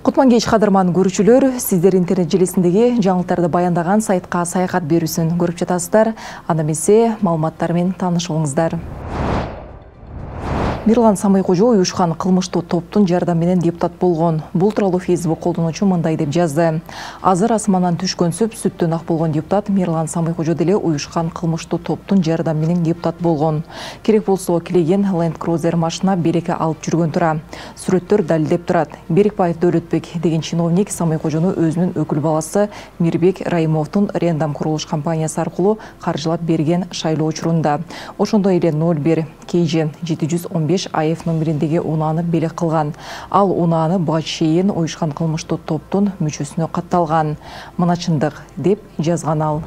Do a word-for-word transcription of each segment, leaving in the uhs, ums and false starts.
Кутман кеч кадырман көрүүчүлөр, сиздер интернет желисиндеги жаңылыктарды баяндаган сайтка саякат берүүсүн көрүп жатасыздар. Анда эмесе маалыматтар менен таанышыңыздар. Мирлан Самайкожо уюшкан кылмыштуу топтун жардамы менен депутат болгон. Бул тууралуу Facebook колдонуучу мындай деп жазды. Азыр асмандан түшкөн сүп сүттөн ак болгон депутат Мирлан Самайкожо деле уюшкан кылмыштуу топтун жардамы менен депутат болгон. Керек болсо килеген Land Cruiser машина береке алып жүргөн тура. Сүрөттөр далилдеп турат. Берикбаев Дөөлөтбек деген чиновник Самайкожону өзүнүн өкүл баласы Мирбек Раимовдун Рендам курулуш компаниясы аркылуу каржылап берген шайлоо учурунда. Ошондой эле ноль бир кей же жети жүз он беш АФ номериндеги унааны белек кылган. Ал унааны буга чейин уюшкан кылмыштуу топтун мүчөсүнө катталган. Мына чындык деп жазган ал.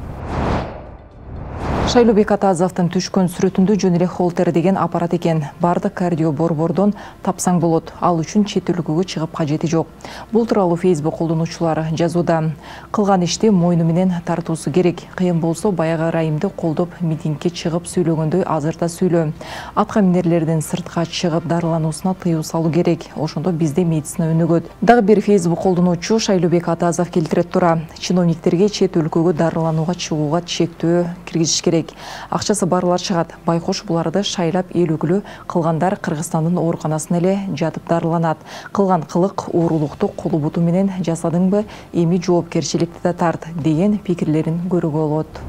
Шайлообек Атазовдун түшкөн сүрөтүндө жөн эле холтер деген аппарат экен. Бардык кардио борбордон тапсаң болот. Ал үчүн чет өлкөгө чыгып кажети жок. Бул тууралуу Facebook колдонуучулар жазууда. Кылган ишти мойну менен тартуусу керек. Кыйын болсо баягы Райымды колдоп митингге чыгып сүйлөгөндөй азыр да сүйлө. Атка минерлердин сыртка чыгып дарылануусуна тыюу салуу керек. Ошондо бизде медицина өнүгөт. Дагы бир Facebook колдонуучу Шайлообек Атазов келтирет тура. Чиновниктерге чет өлкөгө дарыланууга чыгууга чектөө киргизиш керек. Акчасы барлар чыгат. Байкош буларды шайлап эл өкүлү кылгандар Кыргызстандын ооруканасына эле жатып дарыланат. Кылган кылык оорулукту колу буту менен жасадыңбы, эми жоопкерчиликти да тарт деген пикирлерин көрүүгө болот.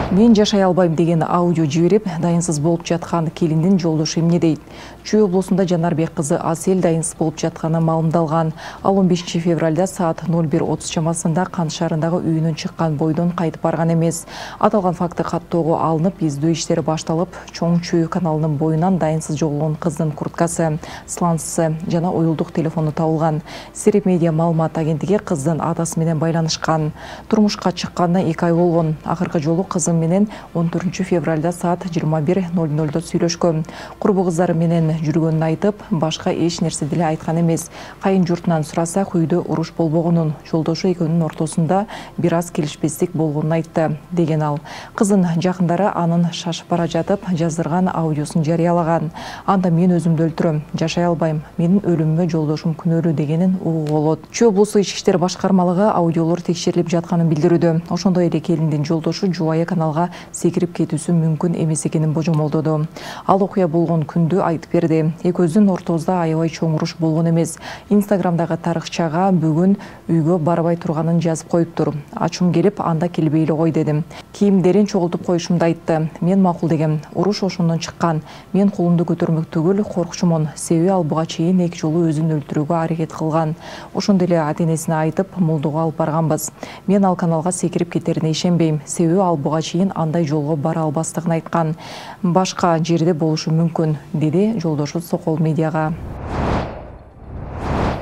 Мен жашай албайм деген аудио жиберип, дайынсыз болуп жаткан келиндин жолдошу эмне дейт? Чүй облусунда Жанарбек кызы Асель дайынсыз болуп жатканы маалымдалган. Ал он бешинчи февралда саат ноль бир отуз чамасында Кан шаарындагы үйүнөн чыккан бойдон кайтып барган эмес. Аталган факты каттоого алынып, издөө иштери башталып, Чоң Чүй каналынын боюнан дайынсыз жоголгон кыздын курткасы, сланцысы жана уюлдук телефону табылган. Сереп медиа маалымат агенттиги кыздын атасы менен байланышкан. Турмушка чыкканына эки ай болгон. Акыркы жолу кызым менен он төртүнчү февралда саат жыйырма бир ноль нольдо сүйлөшкөн. Курбу кыздары менен жүргөнүн айтып, башка эч нерсе деле айткан эмес. Кайын журтунан сурасак, үйдө уруш болбогонун, жолдошу экөөнүн ортосунда бир аз келишпестик болгонун айтты деген ал. Кыздын жакындары анын шашып бара жатып жаздырган аудиосун жарыялаган. Анда мен өзүмдү өлтүрөм, жашай албайм, менин өлүмүмө жолдошум күнөөлүү дегенин угууга болот. Чүй облусту ички иштер башкармалыгы аудиолор текшерилип жатканын билдирүүдө. Ошондой эле келиндин жолдошу жубайы каналга секирип кетүүсү мүмкүн эмес экенин божомолдоду. Ал окуя болгон күндү айтып берди. Экөөбүздүн ортобузда аябай чоң уруш болгон эмес. Инстаграмдагы тарыхчага бүгүн үйгө барбай турганын жазып коюптур. Ачуум келип, анда келбейли кой дедим. Кийимдерин чогултуп коюшумду айтты. Мен макул дегем. Уруш ошондон чыккан. Мен колумду көтөрмөк түгүл, коркчумун. Себеби ал буга чейин эки жолу өзүн өлтүрүүгө аракет кылган. Ошондой эле ата-энесине айтып, мулдуга алып барганбыз. Мен ал каналга секирип кетерине ишенбейм. Себеби ал буга чейин андай жолго бара албастыгын айткан. Башка жерде болушу мүмкүн, деди жолдошу Сокол медиага.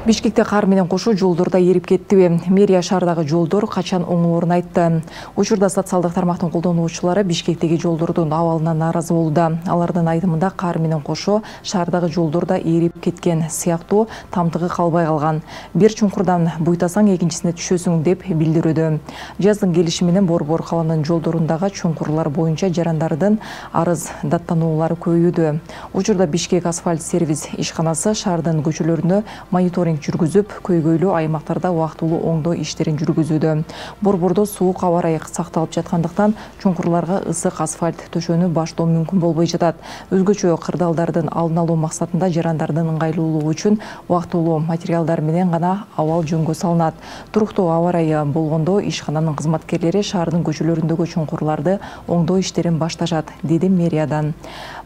Бишкекте кар менен кошо жолдордо эрип кеттиби? Мэрия шаардагы жолдор качан оңолоорун айтты. Учурда социалдык тармактын колдонуучулары Бишкектеги жолдордун абалынан нааразы болууда. Алардын айтымында кар менен кошо шаардагы жолдордо эрип кеткен сыяктуу тамтыгы калбай калган. Бир чуңкурдан буйтасаң экинчисине түшөсүң деп билдирүүдө. Жаздын келиши менен Борбор каланын жолдорундагы чуңкурлар боюнча жарандардын арыз даттануулары көбөйүүдө. Учурда Бишкек асфальт сервис ишканасы шаардын көчөлөрүнө мониторинг жүргүзүп, көйгөйлүү аймактарда убактылуу оңдоо иштерин жүргүзүүдө. Борбордо суук аба ырайы сакталып жаткандыктан чуңкурларга ысык асфальт төшөнү баштоо мүмкүн болбой жатат. Өзгөчө кырдаалдардын алдын алуу максатында жарандардын ыңгайлуулугу үчүн убактылуу материалдар менен гана абал жөнгө салынат. Туруктуу аба ырайы болгондо ишкананын кызматкерлери шаардын көчөлөрүндөгү чуңкурларды оңдоо иштерин башташат, деди мэриядан.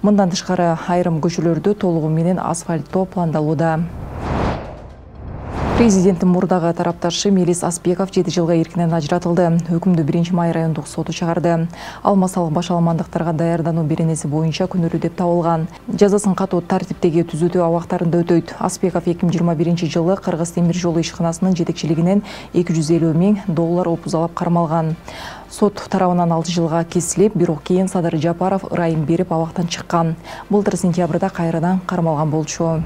Мындан тышкары айрым көчөлөрдү толугу менен асфальттоо пландалууда. Президенттин мурдагы тарапташы Мелис Аспеков жети жылга эркинен ажыратылды. Өкүмдү биринчи май райондук соту чыгарды. Ал массалык башаламандыктарга даярдануу беренеси боюнча күнөөлүү деп табылган. Жазасын катуу тартиптеги түзөтүү абактарында өтөйт. Аспеков эки миң жыйырма биринчи жылы Кыргыз темир жолу ишканасынын жетекчилигинен эки жүз элүү миң доллар опузалап кармалган. Сот тарабынан алты жылга кесилип, бирок кийин Садыр Жапаров ырайым берип абактан чыккан. Былтыр сентябрда кайрадан кармалган болчу.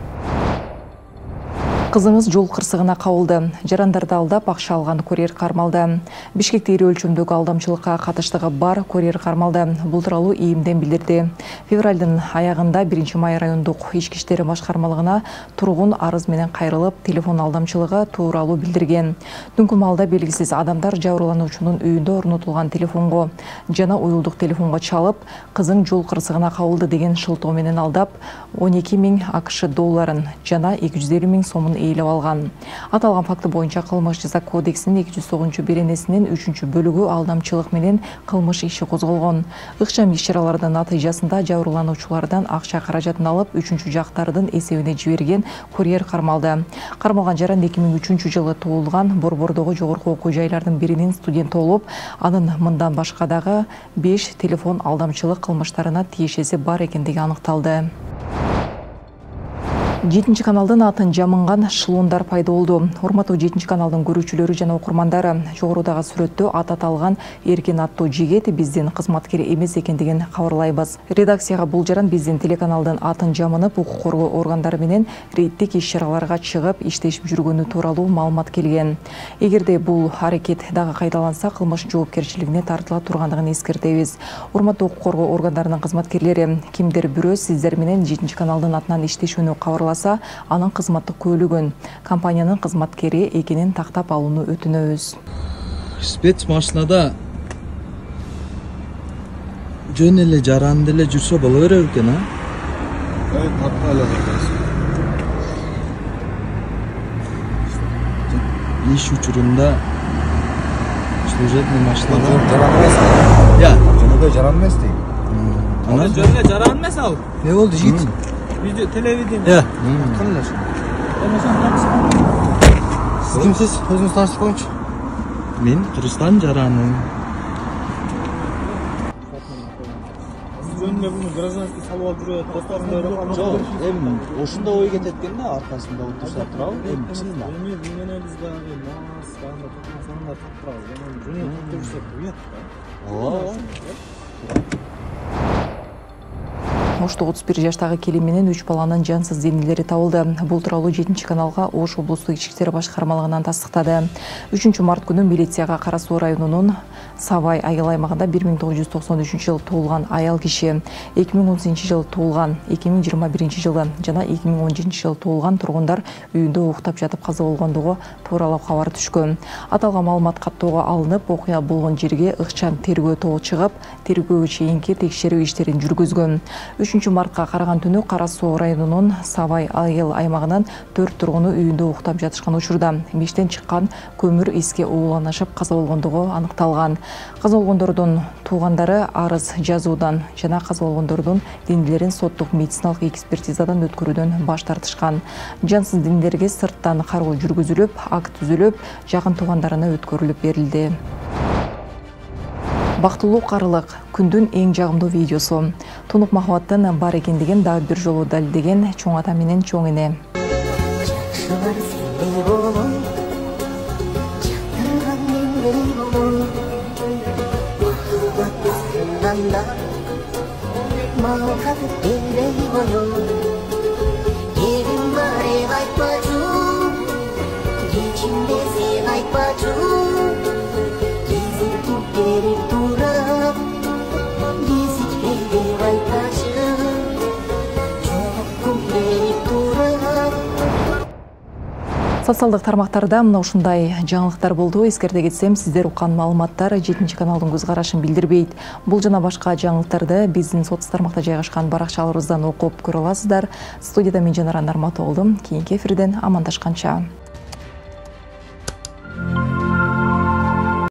Кызыңыз жол кырсыгына кабылды. Жарандарды алдап акча алган курьер кармалды. Бишкекте ири өлчөмдөгү алдамчылыкка катыштыгы бар курьер кармалды. Бул тууралуу ИИМден билдирди. Февралдын аягында биринчи май райондук ички иштер башкармалыгына тургун арыз менен кайрылып, телефон алдамчылыгы тууралуу билдирген. Түнкү маалда белгисиз адамдар жабырлануучунун үйүндө орнотулган телефонго жана уюлдук телефонго чалып, кызың жол кырсыгына кабылды деген шылтоо менен алдап, он эки миң АКШ долларын жана эки жүз элүү миң сомун ээлеп алган. Аталган факты боюнча кылмыш жаза кодексинин эки жүз тогузунчу беренесинин үчүнчү бөлүгү алдамчылык менен кылмыш иши козголгон. Ыкчам иш-чаралардын натыйжасында жабырлануучулардан акча каражатын алып, үчүнчү жактардын эсебине жиберген курьер кармалды. Кармалган жаран эки миң үчүнчү жылы туулган, Борбордогу жогорку окуу жайлардын биринин студенти болуп, анын мындан башка дагы беш телефон алдамчылык кылмыштарына тиешеси бар экендиги аныкталды. жетинчи каналдын атын жамынган шлундар пайда болду. Урматтуу жетинчи каналдын көрүүчүлөрү жана окурмандары, жогорудагы сүрөттө ат аталган Эркин аттуу жигит биздин кызматкер эмес экендигин кабарлайбыз. Редакцияга бул жаран биздин телеканалдын атын жамынып, укук коргоо органдары менен рейдтик иш-чараларга чыгып, иштешип жүргөнү тууралуу маалымат келген. Эгерде бул аракет дагы кайталанса, кылмыш жоопкерчилигине тартыла тургандыгын эскертебиз. Урматтуу укук коргоо органдарынын кызматкерлери, кимдир бирөө сиздер менен жетинчи каналдын атынан иштешүүнү кабарласа, анын кызматтык көйлөгөн компаниянын кызматкери экенин тактап алууну өтүнөбүз. Спецмашинада жөн эле жаранды эле жүрсө боло берер экен, а? Ой, тапка эле Иш учурунда служебный машинада жаран эмес. Я, Жөнөкөй жаран эмес дейм. ана Жөн эле жаран эмес ал. не болду жигит? Видео телевидение. Я, Кандай ошо? Сиз Сиз кимсиз? Өзүңүз таанышып коюңчу. мен Кыргызстан жараным. жөн эле буну гражданский салып алып жүрөт. Досторунда Жок, эми ошондо ой кетет экен да, аркасында отурса турабы? Эми чынында. Эми мен эле бизде мас, кандай тотмосоңда туттурабыз. Анан жөн эле туттуруп жүрсөк уят да. Ооба. Ошто отуз бир жаштагы келин менен үч баланын жансыз денелери табылды. Бул тууралуу жетинчи каналга Ош облустук ички иштер башкармалыгынан тастыктады. үчүнчү март күнү милицияга Кара Суу районунун Сабай айыл аймагында бир миң тогуз жүз токсон үчүнчү жылы туулган аял киши, эки миң он сегизинчи жылы туулган, эки миң жыйырма биринчи жылы жана эки миң он жетинчи жылы туулган тургундар үйүндө уктап жатып каза болгондугу тууралуу кабар түшкөн. Аталган маалымат каттоого алынып, окуя болгон жерге ыкчам тергөө тобу чыгып, тергөөгө чейинки текшерүү иштерин жүргүзгөн. үчүнчү мартка караган түнү Кара Суу районунун Сабай айыл аймагынан төрт тургуну үйүндө уктап жатышкан учурда миштен чыккан көмүр иске ууланышып каза болгондугу аныкталган. Каза болгондордун туугандары арыз жазуудан жана каза болгондордун денелерин соттук медициналык экспертизадан өткөрүүдөн баш тартышкан. Жансыз денелерге сырттан кароо жүргүзүлүп, акт түзүлүп, жакын туугандарына өткөрүлүп берилди. Бактылуу карылык күндүн эң жагымдуу видеосу. Тунук махабаттын бар экендигин дагы бир жолу далилдеген чоң ата менен чоң эне. Социалдык тармактарда мына ушундай жаңылыктар болду. Эскерте кетсем, сиздер уккан маалыматтар жетинчи каналдын көз карашын билдирбейт. Бул жана башка жаңылыктарды биздин соц тармакта жайгашкан баракчаларыбыздан окуп көрө аласыздар. Студияда мен Жанара Нарматова болдум. Кийинки эфирден амандашканча.